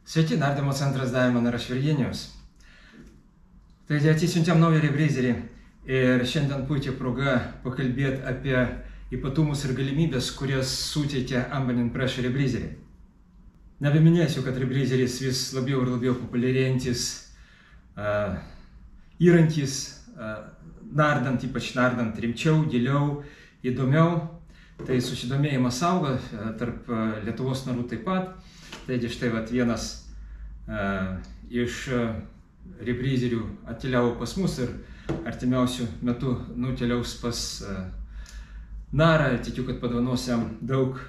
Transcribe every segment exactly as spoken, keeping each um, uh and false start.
Sveiki, nardymo centras Diamond ir aš Virginijus. Taigi atsisiuntėm naują rebreizerį ir šiandien puikia proga pakalbėti apie ypatumus ir galimybės, kurias suteikia Ambient Pressure rebreizeriai. Nebeminėsiu, kad rebreizeris vis labiau ir labiau populiarėjantis uh, įrankis, uh, nardant, ypač nardant rimčiau, giliau, įdomiau. Tai susidomėjimas auga uh, tarp uh, Lietuvos narų taip pat. Taigi štai vat, vienas uh, iš uh, rebreizerių atkeliavo pas mus ir artimiausių metų nukeliaus pas uh, narą. Tikiu, kad padovanos jam daug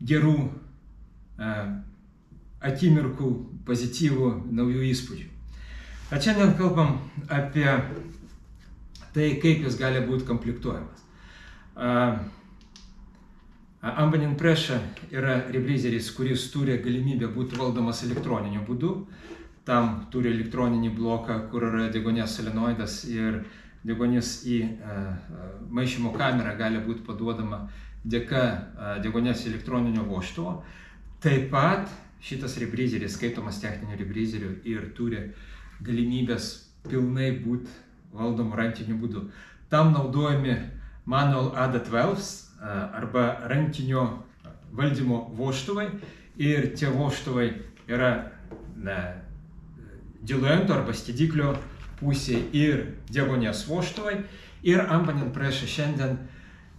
gerų uh, akimirkų, pozityvų, naujų įspūdžių. Bet šiandien kalbam apie tai, kaip jis gali būti komplektuojamas. Uh, Ambient Pressure yra rebreizeris, kuris turi galimybę būti valdomas elektroniniu būdu. Tam turi elektroninį bloką, kur yra deguonies solenoidas ir deguonis į uh, maišymo kamerą gali būti paduodama dėka uh, deguonies elektroninio vožtuvo. Taip pat šitas rebreizeris skaitomas techniniu rebreizeriu ir turi galimybės pilnai būti valdomu rankiniu būdu. Tam naudojami Manual A D dvanašt arba rankinio valdymo vožtuvai ir tie vožtuvai yra diluento arba skiediklio pusė ir deguonies vožtuvai. Ir Ambient Pressure šiandien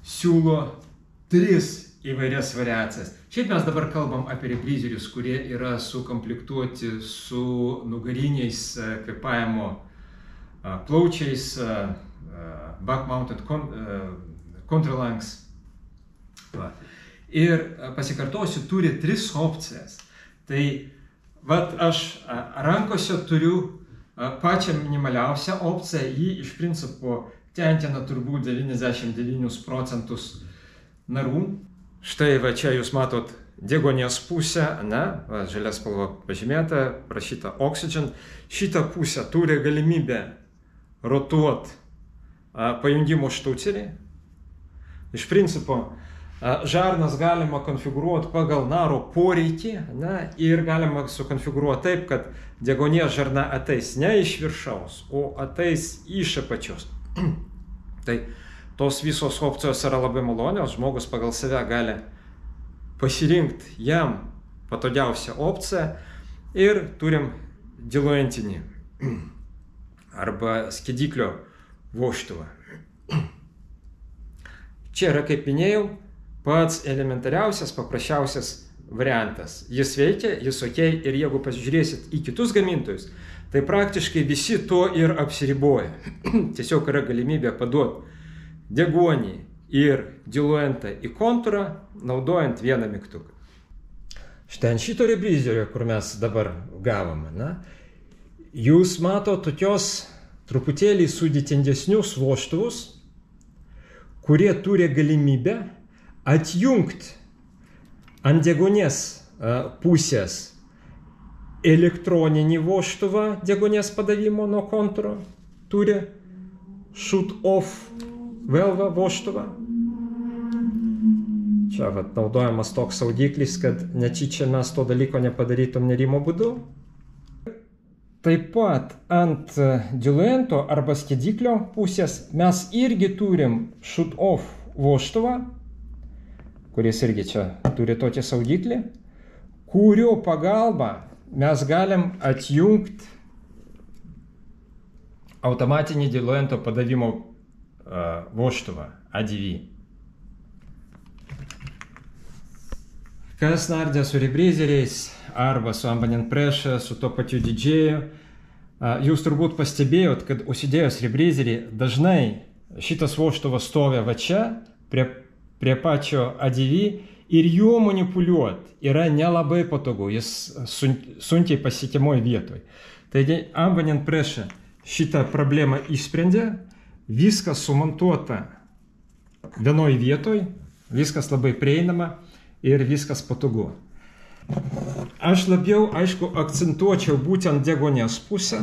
siūlo tris įvairias variacijas. Šiaip mes dabar kalbam apie rebreizerius, kurie yra sukomplektuoti su nugariniais kvėpavimo plaučiais, back mounted contralungs. Va. Ir pasikartosiu, turi tris opcijas. Tai vat aš rankose turiu pačią minimaliausią opciją, jį iš principo tenkina turbūt devyniasdešimt devynis procentus narų. Štai va čia jūs matot deguonies pusę, ne, va, žalia spalva pažymėta, prašyta Oxygen. Šitą pusę turi galimybę rotuoti pajungimo štaucerį. Iš principo žarnas galima konfigūruoti pagal naro poreikį, ne, ir galima sukonfigūruoti taip, kad deguonies žarna ateis ne iš viršaus, o ateis iš apačios. Tai tos visos opcijos yra labai malonios, žmogus pagal save gali pasirinkti jam patogiausią opciją ir turim diluentinį arba skiediklio vožtuvą. Čia yra, kaip minėjau, pats elementariausias, paprasčiausias variantas. Jis veikia, jis ok, ir jeigu pasižiūrėsit į kitus gamintojus, tai praktiškai visi to ir apsiriboja. Tiesiog yra galimybė paduoti deguonį ir diluentą į kontūrą, naudojant vieną mygtuką. Štai ant šito rebreizerio, kur mes dabar gavome, na, jūs mato tokios truputėlį sudėtingesnius vožtuvus, kurie turi galimybę atjungti ant deguonies pusės elektroninį vožtuvą deguonies padavimo nuo kontūro, turi shut off valve vožtuvą. Čia vat, naudojamas toks saugiklis, kad netyčia mes to dalyko nepadarytum nerimo būdu. Taip pat ant diluento arba skiediklio pusės mes irgi turim shut off vožtuvą, kuris irgi čia turi tokį saugiklį, kurio pagalba mes galim atjungti automatinį diluento padavimo uh, vožtuvą A D V. Kas nardė su rebreizeriais arba su Ambient Pressure, su to pačiu didžėju, jūs turbūt pastebėjot, kad užsidėjus rebreizerį dažnai šitas vožtuvas stovi va čia, prie, prie pačio A D V ir juo manipuliuoti yra nelabai patogu, jis sun, sunkiai pasiekiamoj vietoj. Taigi Ambient Pressure šitą problemą išsprendė, viskas sumontuota vienoj vietoj, viskas labai prieinama ir viskas patogu. Aš labiau, aišku, akcentuočiau būtent deguonies pusę,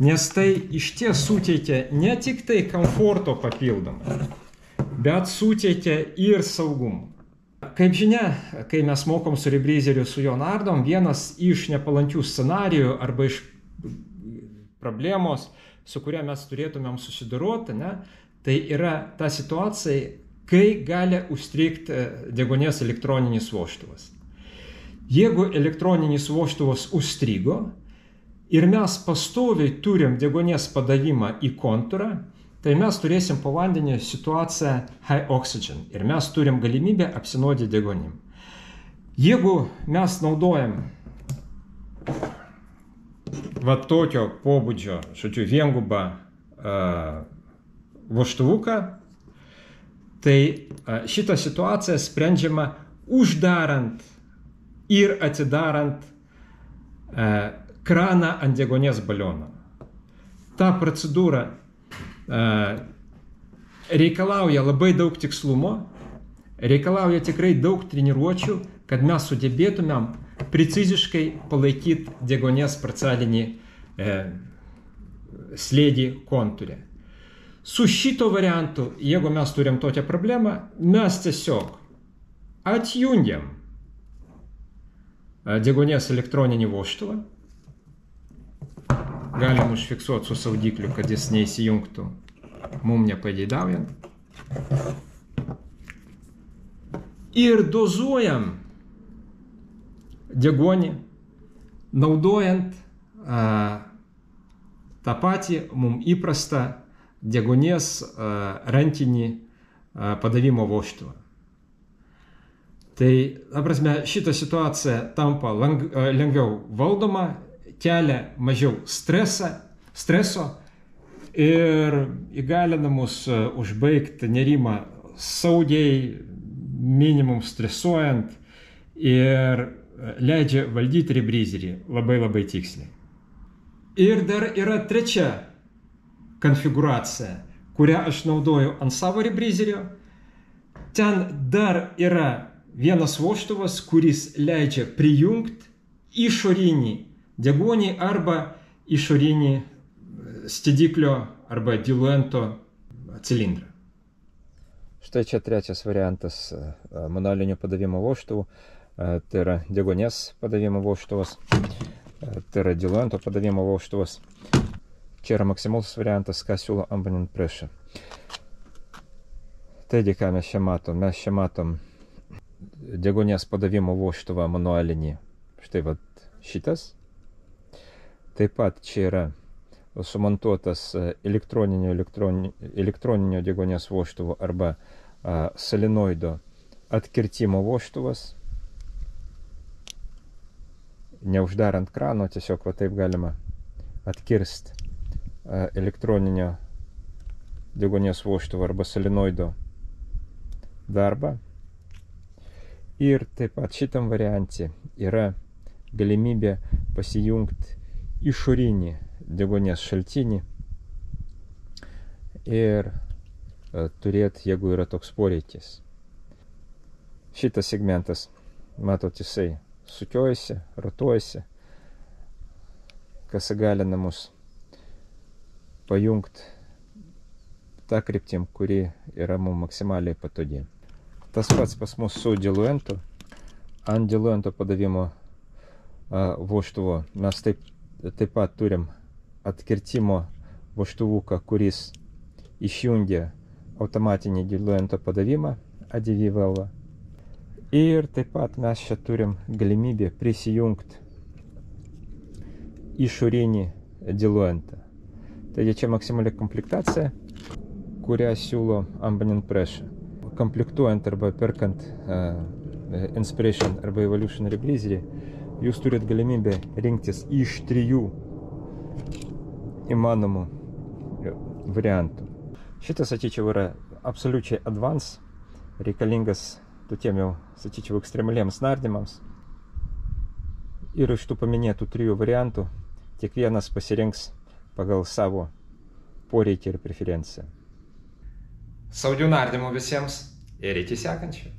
nes tai iš ties suteikia ne tik tai komforto papildomai, bet suteikia ir saugumą. Kaip žinia, kai mes mokom su rebreezeriu su juo nardom, vienas iš nepalankių scenarijų arba iš problemos, su kuria mes turėtumėm susidoroti, ne, tai yra ta situacija, kai gali užstrigti deguonies elektroninis vožtuvas. Jeigu elektroninis vožtuvas užstrigo ir mes pastoviai turim deguonies padavimą į kontūrą, tai mes turėsim po vandenį situaciją high oxygen ir mes turim galimybę apsinuodyti deguonim. Jeigu mes naudojam va tokio pobūdžio, žodžiu, viengubą uh, vožtuvuką, tai uh, šitą situaciją sprendžiama uždarant ir atidarant uh, kraną ant deguonies baliono. Ta procedūra reikalauja labai daug tikslumo, reikalauja tikrai daug treniruočių, kad mes sugebėtumėm preciziškai palaikyti deguonies parcialinį e, slėgį kontūre. Su šito variantu, jeigu mes turim tokią problemą, mes tiesiog atjungiam deguonies elektroninį vožtuvą. Galim užfiksuoti su saugikliu, kad jis neįsijungtų mum nepageidaujant. Ir dozuojam deguonį, naudojant a, tą patį mum įprastą deguonies a, rankinį a, padavimo vožtuvą. Tai, ta prasme, šita situacija tampa lang, a, lengviau valdoma, kelia mažiau stresą, streso ir įgalina mus užbaigti nerimą saugiai, minimum stresuojant ir leidžia valdyti rebreezerį labai labai tiksliai. Ir dar yra trečia konfigūracija, kurią aš naudoju ant savo rebreezerio. Ten dar yra vienas vožtuvas, kuris leidžia prijungti išorinį deguonį arba išorinį stidiklio arba diluento cilindrą. Štai čia trečias variantas manualinio padavimo vožtuvų. Tai yra deguonies padavimo vožtuvas, tai yra diluento padavimo vožtuvas. Čia yra maksimalus variantas, ką siūlo Ambonient Pressure. Taigi, ką mes čia matom? Mes čia matom deguonies padavimo vožtuvą manualinį. Štai vat šitas. Taip pat čia yra sumontuotas elektroninio, elektroninio, elektroninio deguonies vožtuvo arba a, solenoido atkirtimo vožtuvas. Neuždarant krano, tiesiog va taip galima atkirsti a, elektroninio deguonies vožtuvo arba solenoido darbą. Ir taip pat šitam variante yra galimybė pasijungti išorinį deguonies šaltinį ir e, turėti, jeigu yra toks poreikis. Šitas segmentas, matot, jisai sukiojasi, rotuojasi, kas įgalina mus pajungti tą kryptim, kuri yra mums maksimaliai patogi. Tas pats pas mus su diluentu. Ant diluento padavimo a, vožtuvo mes taip Taip pat turim atkirtimo vožtuvuką, kuris išjungia automatinį diluento padavimą A D V valvą. Ir taip pat mes čia turim galimybę prisijungti išorinį diluentą. Taigi čia maksimali komplektacija, kurią siūlo Ambonient Pressure. Komplektuojant arba perkant uh, Inspiration arba Evolution rebreezerį, jūs turit galimybę rinktis iš trijų įmanomų variantų. Šitas, sakyčiau, yra absoliučiai advance, reikalingas tokiem jau, sakyčiau, ekstremaliems nardymams. Ir iš tų paminėtų trijų variantų kiekvienas pasirinks pagal savo poreikį ir preferenciją. Saugių nardymų visiems ir iki sekančių.